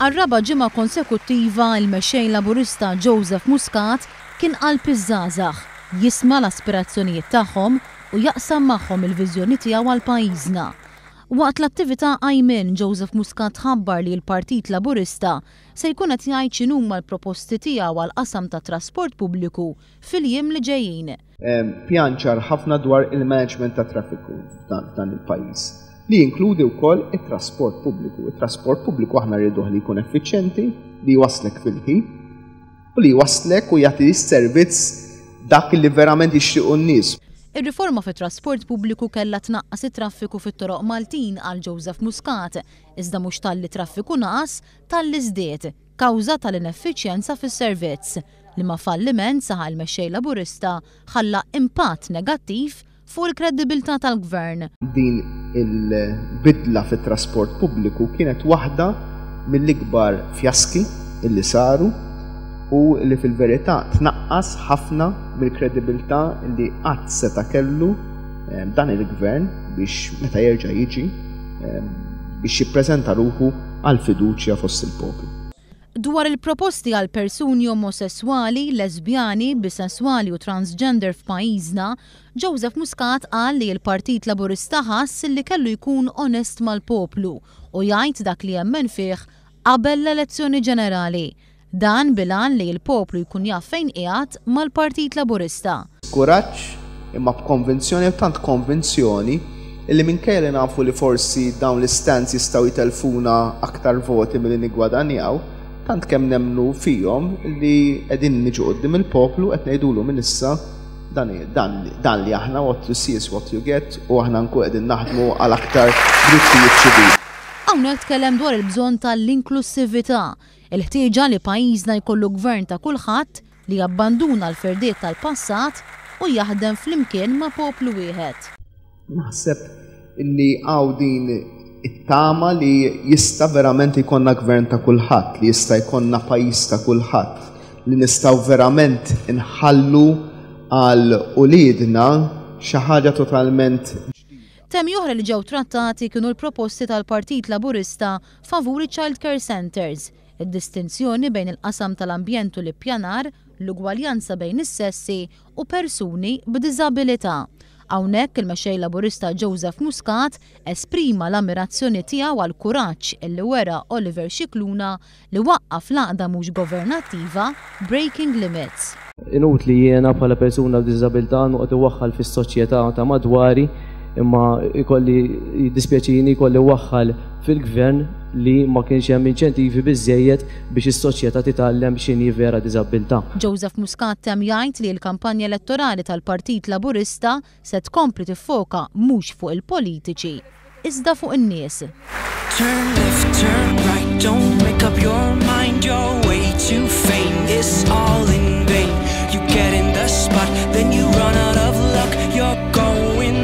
Għar-raba' ġimgħa konsekuttiva, il-Mexxej Laburista Joseph Muscat kien qalb iż-żgħażagħ, jisma' l-aspirazzjonijiet tagħhom u jaqsam magħhom il-viżjoni tiegħu għal pajjiżna. Waqt l-attività Qajmien, Joseph Muscat ħabbar li l-Partit Laburista se jkun qed jgħid x'inhuma l-proposti tiegħu għall-qasam tat-trasport pubbliku fil-jiem li ġejjin. Pjan ċar ħafna dwar il-management tat-traffiku f'dan il-pajjiż li jinkludi wkoll it-trasport pubbliku. It-trasport pubbliku aħna rriduh li jkun effiċjenti, li jwasslek fil-ħin u li jwasslek u jagħti s-servizz dak li verament jixtiequ n-nies. Ir-riforma fit-trasport pubbliku kellha tnaqqas it-traffiku fit-toroq Maltin, qal Joseph Muscat, iżda mhux talli t-traffiku naqas, talli żdied, kawża tal-ineffiċjenza fis-servizz, liema falliment, saħaq il-Mexxej Laburista, ħalla impatt negattiv fuq il-kreddibilità tal-Gvern. Din il-bidla fit-trasport pubbliku kienet waħda mill-ikbar fjaski li saru u li fil-verità tnaqqas ħafna mill-kredibilità li qatt seta' kellu eh, dan il-gvern biex meta jerġa' jiġi eh, biex jippreżenta ruħu għal fiduċja fost il-poplu. Dwar il-proposti għal persuni omosesswali, lesbjani, bisesswali u transgender f'pajjiżna, Joseph Muscat qal li l-Partit Laburista ħass li kellu jkun onest mal-poplu u jgħid dak li jemmen fih qabel l-elezzjoni ġenerali. Dan bil-għan li l-poplu jkun jaf fejn qiegħed mal-Partit Laburista. B'kuraġġ, imma b'konvinzjoni u tant konvinzjoni illi minkejja li nafu li forsi dawn l-istands jistgħu jtellfuna aktar voti milli niggwadanjaw, tant kemm nemmnu fihom li qegħdin niġu quddiem il-poplu qed ngħidulu minn issa dan dan dan li aħna what you see is what you get u aħna nkun qegħdin naħdmu għal aktar drittijiet ċivili. Hawnhekk tkellem dwar il-bżonn tal-inklussività, il-ħtieġa li pajjiżna jkollu gvern ta' kulħadd li jabbanduna l-firdiet tal-passat u jaħdem flimkien ma' poplu wieħed. Naħseb li hawn din it-tama li jista' verament jkollna gvern ta' kulħadd, li jista' jkollna pajjiż ta' kulħadd, li nistgħu verament inħallu għal uliedna xi ħaġa totalment ġdida. Temi oħra li ġew trattati kienu l-proposti tal-Partit Laburista favur iċ-child care centres, id-distinzjoni bejn il-qasam tal-ambjent u l-ippjanar, l-ugwaljanza bejn is-sessi u persuni b'diżabilità. Hawnhekk il-Mexxej Laburista Joseph Muscat esprima l-ammirazzjoni tiegħu għall-kuraġġ li wera Oliver Scicluna li waqqaf l-għaqda mhux governattiva Breaking Limits. Inutli jiena bħala persuna b'diżabilità noqgħod iwaħħal fis-soċjetà ta' madwari imma jkolli jiddispjaċini jkolli waħħal fil-gvern li ma kienx hemm inċentivi biżżejjed biex is-soċjetà titgħallem x'inhi vera diżabbiltà. Joseph Muscat temm jgħid li l-kampanja elettorali tal-Partit Laburista se tkompli tiffoka mhux fuq il-politiċi, iżda fuq in-nies. Turn left, turn right, don't make up your mind, your way to fame is all in vain. You get in the spot, then you run out of luck, you're going.